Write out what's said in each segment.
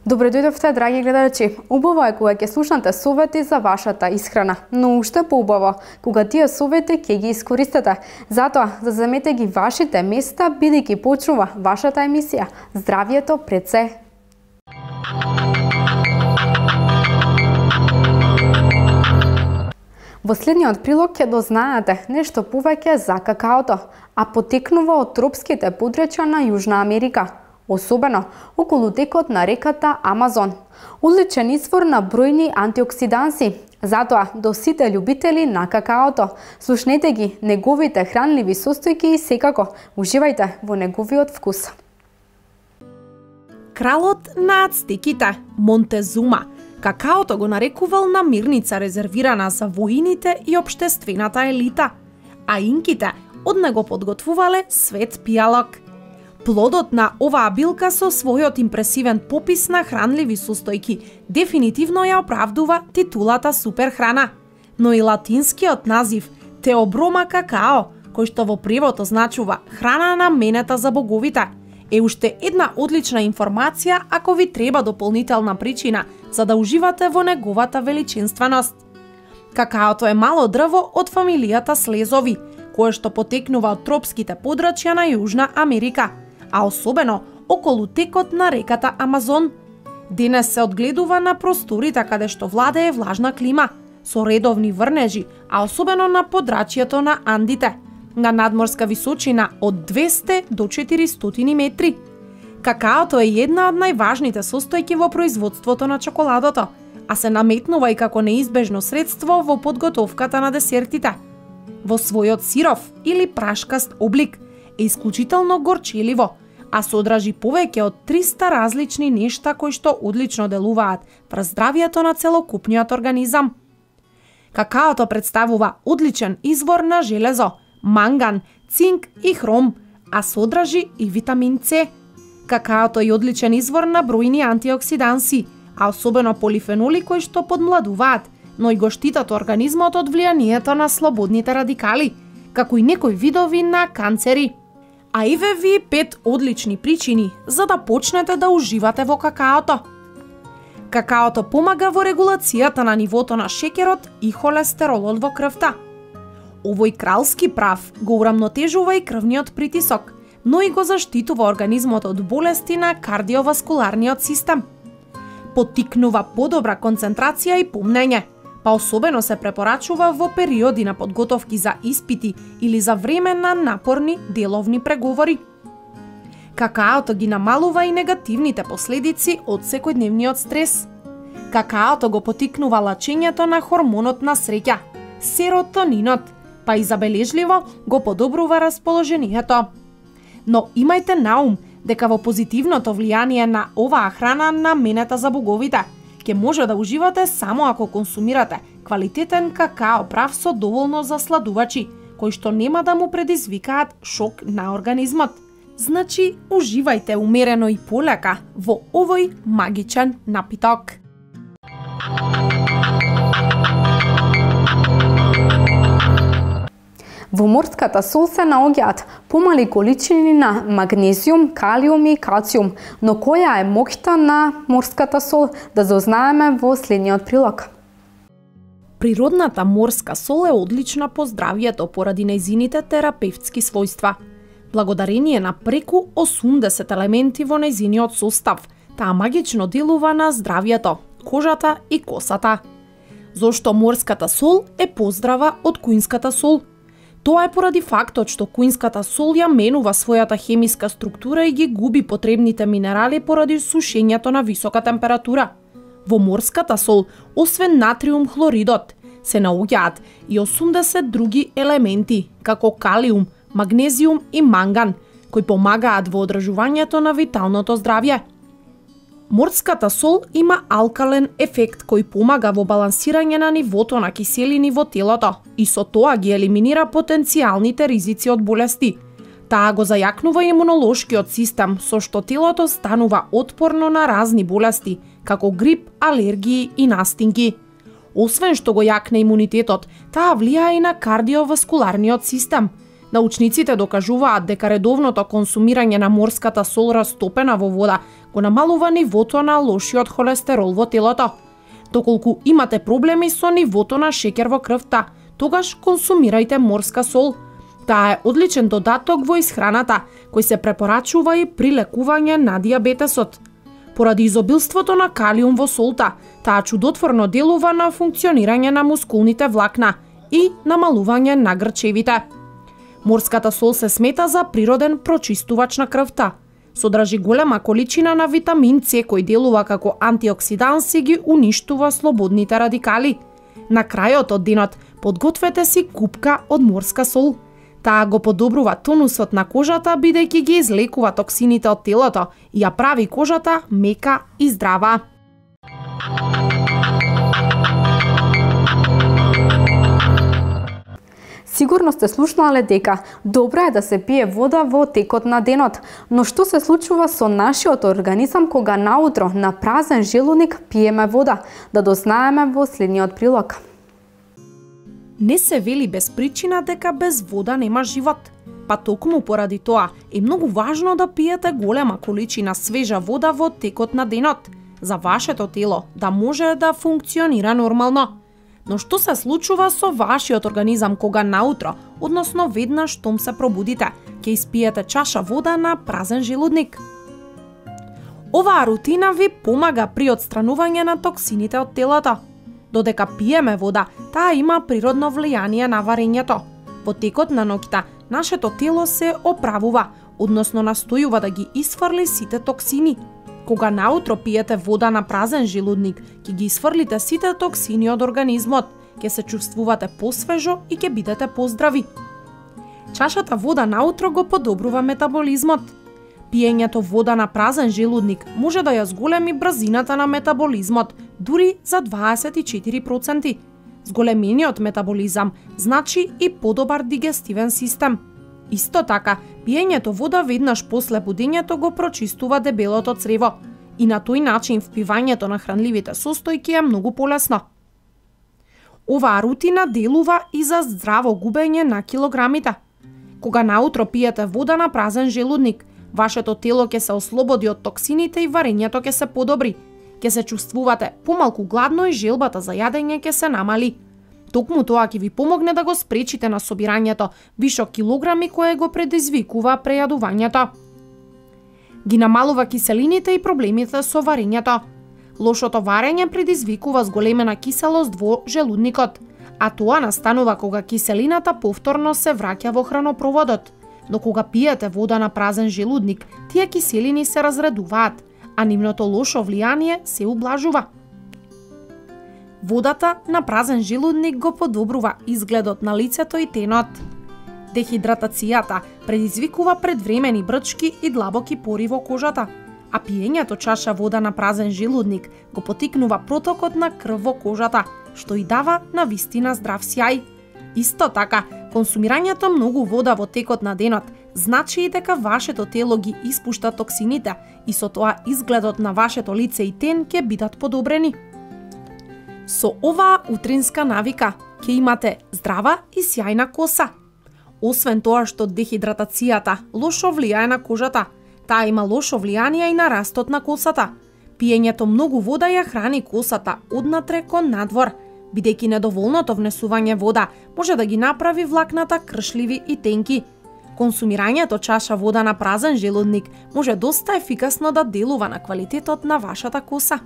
Добре дојдовте, драги гледачи. Убаво е кога ќе слушнате совети за вашата исхрана, но уште поубаво кога тие совети ќе ги искористите. Затоа, заземете ги вашите места, бидејќи почнува вашата емисија Здравјето пред се. Во следниот прилог ќе дознаете нешто повеќе за какаото, а потекнува од тропските подрачја на Јужна Америка, особено околу текот на реката Амазон. Одличен извор на бројни антиоксиданси. Затоа, до сите љубители на какаото, слушнете ги неговите хранливи состојки и секако уживајте во неговиот вкус. Кралот на ацтеките, Монтезума, какаото го нарекувал намирница резервирана за воините и општествената елита, а инките од него подготвувале свет пијалок. Плодот на оваа билка со својот импресивен попис на хранливи состојки дефинитивно ја оправдува титулата суперхрана, но и латинскиот назив Теоброма какао, кој што во превод означува храна наменета за боговите, е уште една одлична информација ако ви треба дополнителна причина за да уживате во неговата величинственост. Какаото е мало дрво од фамилијата слезови, кое што потекнува од тропските подрачја на Јужна Америка, а особено околу текот на реката Амазон. Денес се одгледува на просторите каде што владее влажна клима, со редовни врнежи, а особено на подрачјето на Андите, на надморска височина од 200 до 400 метри. Какаото е една од најважните состојки во производството на чоколадото, а се наметнува и како неизбежно средство во подготовката на десертите. Во својот сиров или прашкаст облик е исклучително горчеливо, а содржи повеќе од 300 различни нешта кои што одлично делуваат врз здравјето на целокупниот организам. Какаото представува одличен извор на железо, манган, цинк и хром, а содржи и витамин С. Какаото е одличен извор на бројни антиоксиданси, а особено полифеноли кои што подмладуваат, но и го штитат организмот од влијанието на слободните радикали, како и некои видови на канцери. А еве ви 5 одлични причини за да почнете да уживате во какаото. Какаото помага во регулацијата на нивото на шеќерот и холестеролот во крвта. Овој кралски прав го урамнотежува и крвниот притисок, но и го заштитува организмот од болести на кардиоваскуларниот систем. Поттикнува подобра концентрација и помнење, па особено се препорачува во периоди на подготовки за испити или за време на напорни деловни преговори. Какаото ги намалува и негативните последици од секојдневниот стрес. Какаото го поттикнува лачењето на хормонот на среќа, серотонинот, па и забележливо го подобрува расположението. Но имајте на ум дека во позитивното влијание на оваа храна наменета за боговите ќе може да уживате само ако консумирате квалитетен какао прав со доволно засладувачи, кои што нема да му предизвикаат шок на организмот. Значи, уживајте умерено и полека во овој магичен напиток. Во морската сол се наоѓаат помали количини на магнезиум, калиум и калциум, но која е моќта на морската сол да дознаеме во следниот прилог. Природната морска сол е одлична по здравјето поради нејзините терапевтски својства. Благодарение на преку 80 елементи во нејзиниот состав, таа магично делува на здравјето, кожата и косата. Зошто морската сол е поздрава од куинската сол? Тоа е поради фактот што куинската сол ја менува својата хемиска структура и ги губи потребните минерали поради сушењето на висока температура. Во морската сол, освен натриум хлоридот, се наоѓаат и 80 други елементи, како калиум, магнезиум и манган, кои помагаат во одржувањето на виталното здравје. Морската сол има алкален ефект кој помага во балансирање на нивото на киселини во телото и со тоа ги елиминира потенцијалните ризици од болести. Таа го зајакнува имунолошкиот систем, со што телото станува отпорно на разни болести, како грип, алергии и настинки. Освен што го јакне имунитетот, таа влијае и на кардиоваскуларниот систем, Научниците докажуваат дека редовното консумирање на морската сол растопена во вода го намалува нивото на лошиот холестерол во телото. Доколку имате проблеми со нивото на шеќер во крвта, тогаш консумирајте морска сол. Таа е одличен додаток во исхраната, кој се препорачува и при лекување на дијабетесот. Поради изобилството на калиум во солта, таа чудотворно делува на функционирање на мускулните влакна и намалување на грчевите. Морската сол се смета за природен прочистувач на крвта. Содржи голема количина на витамин С кој делува како антиоксиданс и ги уништува слободните радикали. На крајот од денот подгответе си купка од морска сол. Таа го подобрува тонусот на кожата бидејќи ги излекува токсините од телото и ја прави кожата мека и здрава. Сигурно сте слушнале дека добро е да се пие вода во текот на денот, но што се случува со нашиот организам кога наутро на празен желудник пиеме вода? Да дознаеме во следниот прилог. Не се вели без причина дека без вода нема живот. Па токму поради тоа е многу важно да пиете голема количина свежа вода во текот на денот, за вашето тело да може да функционира нормално. Но што се случува со вашиот организам кога наутро, односно веднаш штом се пробудите, ќе испиете чаша вода на празен желудник? Оваа рутина ви помага при отстранување на токсините од телото. Додека пиеме вода, таа има природно влијание на варењето. Во текот на ноќта, нашето тело се оправува, односно настојува да ги исфрли сите токсини. Кога наутро пиете вода на празен желудник, ќе ги исфрлите сите токсини од организмот, ќе се чувствувате посвежо и ќе бидете поздрави. Чашата вода наутро го подобрува метаболизмот. Пиењето вода на празен желудник може да ја зголеми брзината на метаболизмот, дури за 24%. Зголемениот метаболизам значи и подобар дигестивен систем. Исто така, пиењето вода веднаш после будењето го прочистува дебелото црево и на тој начин впивањето на хранливите состојки е многу полесно. Оваа рутина делува и за здраво губење на килограмите. Кога наутро пиете вода на празен желудник, вашето тело ќе се ослободи од токсините и варењето ќе се подобри. Ќе се чувствувате помалку гладно и желбата за јадење ќе се намали. Токму тоа ќе ви помогне да го спречите на собирањето вишок килограми кое го предизвикува прејадувањето. Ги намалува киселините и проблемите со варењето. Лошото варење предизвикува зголемена киселост во желудникот, а тоа настанува кога киселината повторно се враќа во хранопроводот. Но кога пиете вода на празен желудник, тие киселини се разредуваат, а нивното лошо влијание се ублажува. Водата на празен желудник го подобрува изгледот на лицето и тенот. Дехидратацијата предизвикува предвремени брчки и длабоки пори во кожата, а пиењето чаша вода на празен желудник го потикнува протокот на крв во кожата, што и дава навистина здрав сјај. Исто така, консумирањето многу вода во текот на денот значи и дека вашето тело ги испушта токсините и со тоа изгледот на вашето лице и тен ќе бидат подобрени. Со оваа утринска навика ќе имате здрава и сјајна коса. Освен тоа што дехидратацијата лошо влијае на кожата, таа има лошо влијание и на растот на косата. Пиењето многу вода ја храни косата однатре кон надвор, бидејќи недоволното внесување вода може да ги направи влакната кршливи и тенки. Консумирањето чаша вода на празен желудник може доста ефикасно да делува на квалитетот на вашата коса.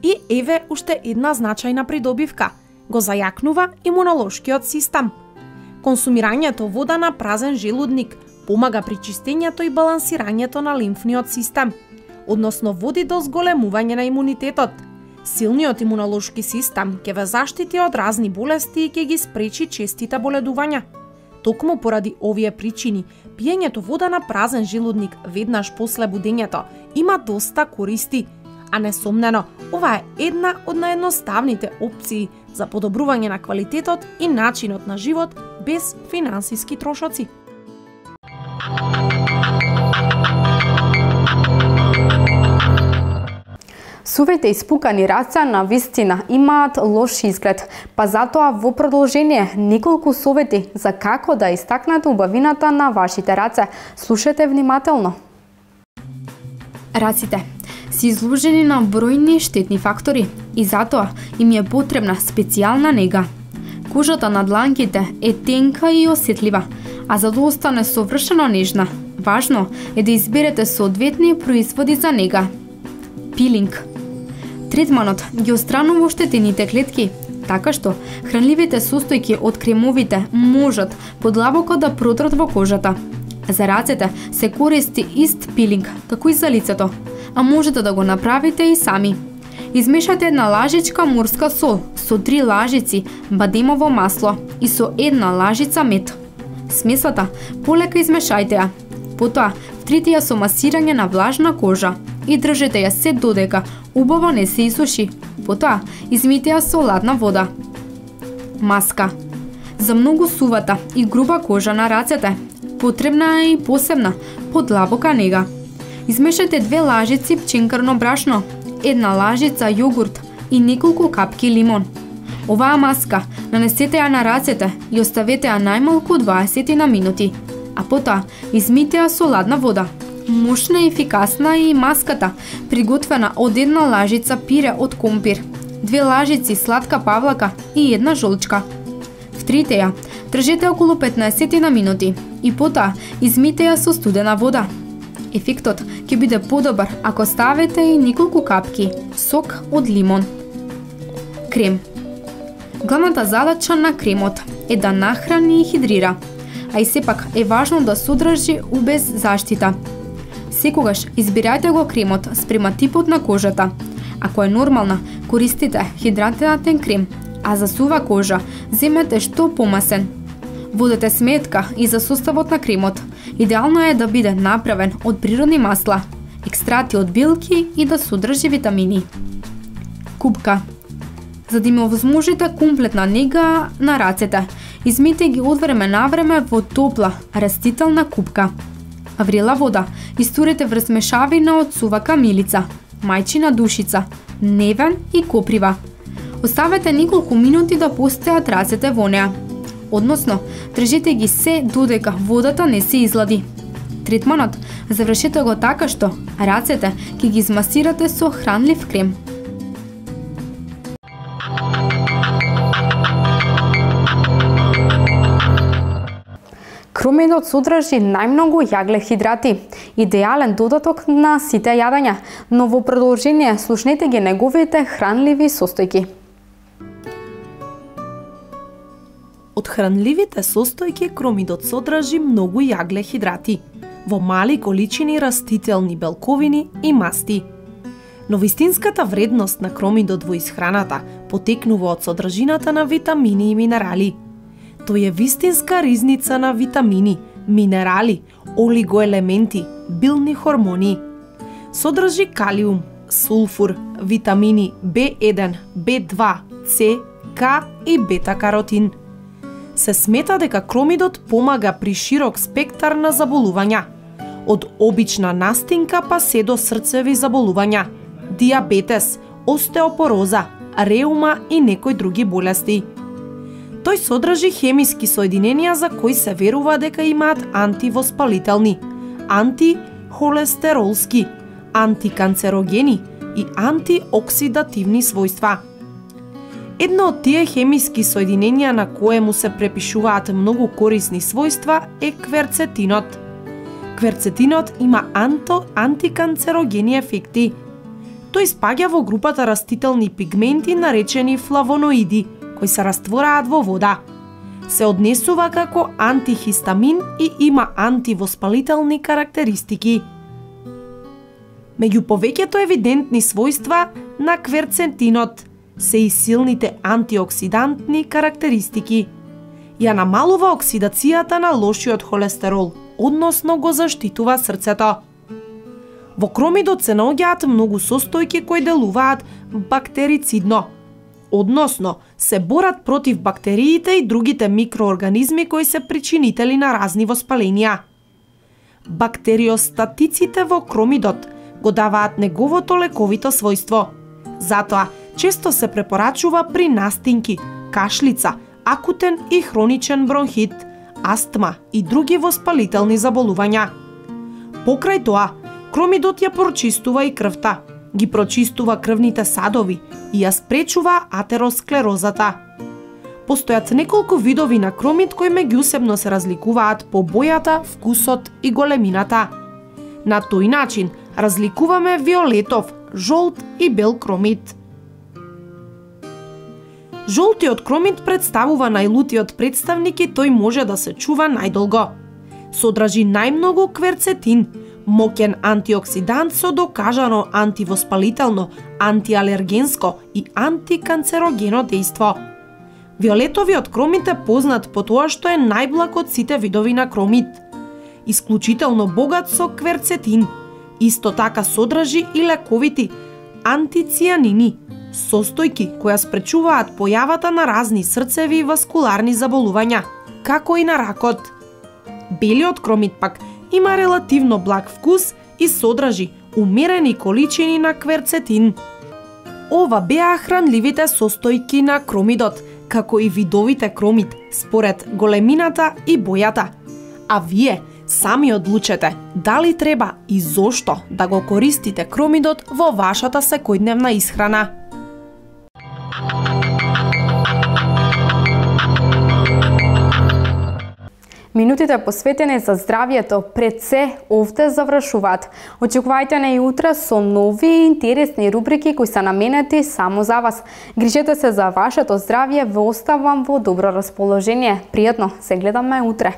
И еве уште една значајна придобивка – го зајакнува имунолошкиот систем. Консумирањето вода на празен желудник помага при чистењето и балансирањето на лимфниот систем, односно води до зголемување на имунитетот. Силниот имунолошки систем ќе ве заштити од разни болести и ќе ги спречи честите боледувања. Токму поради овие причини, пиењето вода на празен желудник веднаш после будењето има доста користи, а несомнено, ова е една од наједноставните опции за подобрување на квалитетот и начинот на живот без финансиски трошоци. Сувите испукани раце на вистина имаат лош изглед, па затоа во продолжение неколку совети за како да истакнете убавината на вашите раце. Слушате внимателно. Раците се изложени на бројни штетни фактори и затоа им е потребна специјална нега. Кожата на дланките е тенка и осетлива, а за да остане совршено нежна, важно е да изберете соодветни производи за нега. Пилинг. Третманот ги отстранува оштетените клетки, така што хранливите состојки од кремовите можат подлабоко да продрат во кожата. За рацете се користи ист пилинг како и за лицето, а можете да го направите и сами. Измешате една лажичка морска сол со 3 лажици бадемово масло и со 1 лажица мед. Смесата полека измешајте ја. Потоа втрите ја со масирање на влажна кожа и држете ја се додека убаво не се исуши. Потоа измите ја со ладна вода. Маска. За многу сувата и груба кожа на рацете потребна е и посебна, подлабока нега. Измешате 2 лажици пченкарно брашно, 1 лажица јогурт и неколку капки лимон. Оваа маска нанесете ја на рацете и оставете ја најмалку 20 на минути, а потоа измите ја со ладна вода. Мощна и ефикасна е и маската, приготвена од 1 лажица пире од компир, 2 лажици сладка павлака и 1 жолчка. Втрите ја, држете околу 15 на минути и потоа измите ја со студена вода. Ефектот ќе биде подобар ако ставите и неколку капки сок од лимон. Крем. Главната задача на кремот е да нахрани и хидрира, а и сепак е важно да содржи UV заштита. Секогаш избирајте го кремот спрема типот на кожата. Ако е нормална, користите хидратиран крем, а за сува кожа земете што помасен. Водете сметка и за составот на кремот. Идеално е да биде направен од природни масла, екстракти од билки и да содржи витамини. Купка. За да им овозможите комплетна нега на рацете, измите ги од време на време во топла, растителна купка. Врела вода истурете врз мешавина од сува камилица, мајчина душица, невен и коприва. Оставете неколку минути да постојат рацете во неа. Односно, држите ги се додека водата не се излади. Третманот завршете го така што рацете ќе ги измасирате со хранлив крем. Кромидот содржи најмногу јаглехидрати, идеален додаток на сите јадења, но во продолжение слушнете ги неговите хранливи состојки. Од хранливите состојки кромидот содржи многу јаглехидрати, во мали количини растителни белковини и масти. Но вистинската вредност на кромидот во исхраната потекнува од содржината на витамини и минерали. Тој е вистинска ризница на витамини, минерали, олигоелементи, билни хормони. Содржи калиум, сулфур, витамини B1, B2, C, К и бета-каротин. Се смета дека кромидот помага при широк спектар на заболувања, од обична настинка па се до срцеви заболувања, диабетес, остеопороза, реума и некои други болести. Тој содржи хемиски соединенија за кои се верува дека имаат антивоспалителни, антихолестеролски, антиканцерогени и антиоксидативни својства. Едно од тие хемиски соединенија на кое му се препишуваат многу корисни својства е кверцетинот. Кверцетинот има антиканцерогени ефекти. Тој спаѓа во групата растителни пигменти наречени флавоноиди, кои се раствораат во вода. Се однесува како антихистамин и има антивоспалителни карактеристики. Меѓу повеќето евидентни својства на кверцетинот се и силните антиоксидантни карактеристики. Ја намалува оксидацијата на лошиот холестерол, односно го заштитува срцето. Во кромидот се наоѓаат многу состојки кои делуваат бактерицидно, односно се борат против бактериите и другите микроорганизми кои се причинители на разни воспаленија. Бактериостатиците во кромидот го даваат неговото лековито својство. Затоа, често се препорачува при настинки, кашлица, акутен и хроничен бронхит, астма и други воспалителни заболувања. Покрај тоа, кромидот ја прочистува и крвта, ги прочистува крвните садови и ја спречува атеросклерозата. Постојат неколку видови на кромид кои меѓусебно се разликуваат по бојата, вкусот и големината. На тој начин разликуваме виолетов, жолт и бел кромид. Жолтиот кромид представува најлутиот представник и тој може да се чува најдолго. Содржи најмногу кверцетин, моќен антиоксидант со докажано антивоспалително, антиалергенско и антиканцерогено дејство. Виолетовиот кромид е познат по тоа што е најблаг од сите видови на кромид. Исклучително богат со кверцетин. Исто така содржи и лековити антицијанини, состојки кои спречуваат појавата на разни срцеви и васкуларни заболувања, како и на ракот. Белиот кромид пак има релативно благ вкус и содржи умерени количини на кверцетин. Ова беа хранливите состојки на кромидот, како и видовите кромид, според големината и бојата. А вие сами одлучете дали треба и зошто да го користите кромидот во вашата секојдневна исхрана. Минутите посветени за здравието пред се овде завршуваат. Очекувајте не и утре со нови и интересни рубрики кои се наменети само за вас. Грижете се за вашето здравје, ве оставам во добро расположение. Пријатно, се гледаме утре.